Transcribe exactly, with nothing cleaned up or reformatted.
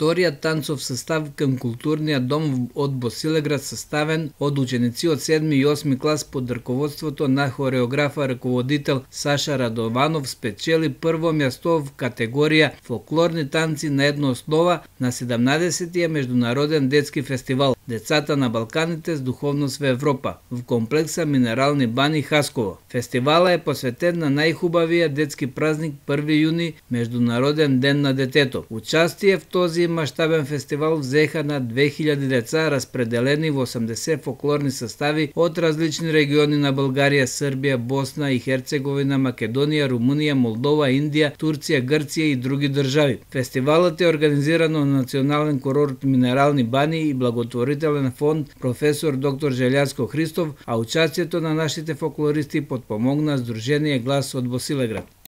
Вториот танцов состав кон културниот дом од Босилеград, составен од ученици од седми и осми клас под раководството на хореографа раководител Саша Радованов, спечели прво место в категорија фолклорни танци на една основа на седумнаесеттиот меѓународен детски фестивал Децата на Балканите с духовност во Европа в комплекса Минерални бани Хасково. Фестивалот е посветен на најхубавиот детски празник први јуни, Меѓународен ден на детето. Участие в този маштабен фестивал взеха на две хиляди деца, распределени во осумдесет фолклорни состави од различни региони на Българија, Србија, Босна и Херцеговина, Македонија, Румунија, Молдова, Индија, Турција, Грција и други држави. Фестивалот е организиран од Национален курорт Минерални бани и благотворителен фонд професор доктор Желјаско Христов, а участието на нашите фолклористи подпомогна Сдружение Глас од Босилеград.